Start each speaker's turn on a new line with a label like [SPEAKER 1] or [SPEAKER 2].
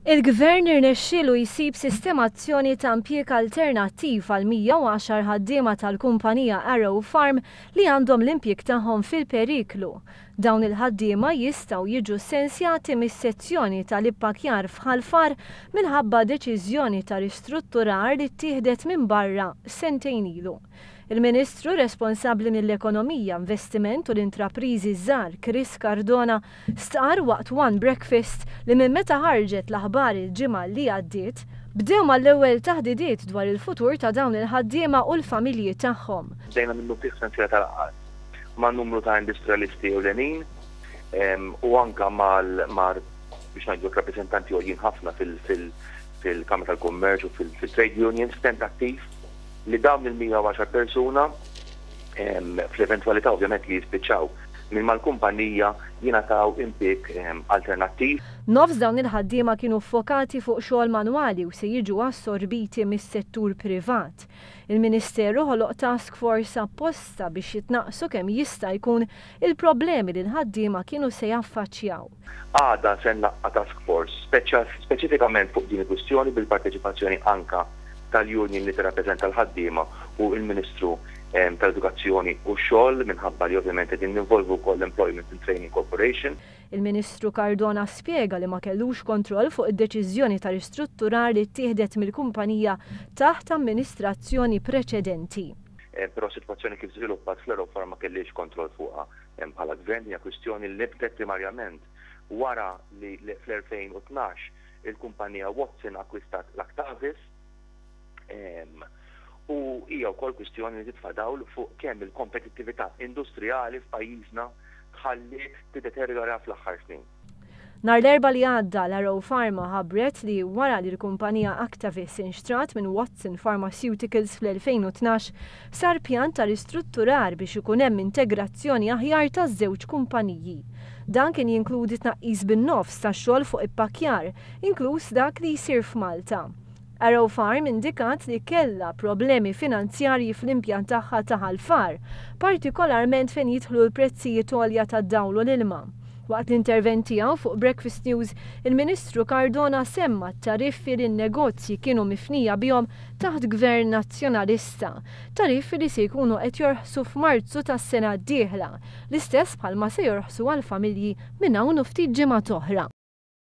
[SPEAKER 1] Il-Gvern irnexxielu jsib sistemazzjoni ta' impjieg alternattiv għal 110 ħaddiema tal-kumpanija Arrow Farm li għandhom l-impjieg tagħhom fil-periklu. Dawn il-ħaddiema jistgħu jiġu ssensjati mis-sezzjoni tal-ippakkjar f'Ħal Far minħabba deċiżjoni ta' ristrutturar li ttieħdet minn barra sentejn ilu. Il-Ministru responsabbli mill-Ekonomija, Investiment u l-Intrapriżi ż-Żgħar Chris Cardona stqarr waqt One Breakfast li minn meta ħarġet l-aħbar il-ġimgħa li għaddiet, bdew mal-ewwel taħdidiet dwar il-futur ta' dawn il-ħaddiema u l-familji tagħhom.
[SPEAKER 2] Bdejna minnufih sensiela ta' laqgħat ma' numru ta' industrialisti ewlenin u anke ma' biex ngħidu hekk rappreżentanti għoljin ħafna fil-Kamra tal-Kummerċ u fil-trade unions f'tentattiv li dawn il-110 persuna, fl-eventwalità ovvjament li jispiċċaw minn mal-kumpanija, jingħataw impieg alternattiv.
[SPEAKER 1] Nofs dawn il-ħaddiema kienu ffokati fuq xogħol manwali u se jiġu assorbiti mis-settur privat. Il-Ministeru ħoloq task force apposta biex jitnaqqsu kemm jista' jkun il-problemi li l-ħaddiema kienu se jaffaċċjaw.
[SPEAKER 2] Għada se nlaqqa' task force speċifikament fuq din il-kwistjoni bil-parteċipazzjoni anke tal-union li tirrappreżenta l-ħaddiema u l-Ministru tal-Edukazzjoni u x-Xogħol minħabba li ovvjament qegħdin ninvolvu wkoll l-Employment and Training Corporation.
[SPEAKER 1] Il-Ministru Cardona spjega li ma kellux kontroll fuq id-deċiżjoni ta' ristrutturar li ttieħdet mill-kumpanija taħt amministrazzjoni preċedenti.
[SPEAKER 2] Però s-sitwazzjoni kif żviluppat fl-Aerofarm ma kellix kontroll fuqha bħala Gvern. Din hija kwistjoni li nibtet primarjament wara li fl-2012 il-kumpanija Watson akkwistat l-Actavis. U hija wkoll kwistjoni li titfa' dawl fuq kemm il-kompetittività industrijali f'pajjiżna tħalliet tiddeterjora fl-aħħar snin.
[SPEAKER 1] Nhar l-Erbgħa li għadda, l-Arrow Pharma ħabbret li wara li l-kumpanija Actavis inxtrat minn Watson Pharmaceuticals fl-2012, sar pjan ta' ristrutturar biex ikun hemm integrazzjoni aħjar taż-żewġ kumpaniji. Dan kien jinkludi tnaqqis bin-nofs tax-xogħol fuq ippakkjar, inkluż dak li jsir f'Malta. Arrow Farm indikat li kellha problemi finanzjarji fl-impjant tagħha ta' Ħal Far, partikolarment fejn jidħlu l-prezzijiet għolja tad-dawl u l-ilma. Waqt l-intervent tiegħu fuq Breakfast News, il-Ministru Cardona semma t-tariffi li n-negozji kienu mifnija bihom taħt Gvern Nazzjonalista, tariffi li se jkunu qed jorħsu f'Marzu tas-sena d-dieħla, l-istess bħalma se jorħsu għall-familji minn hawn u ftit ġimgħat oħra.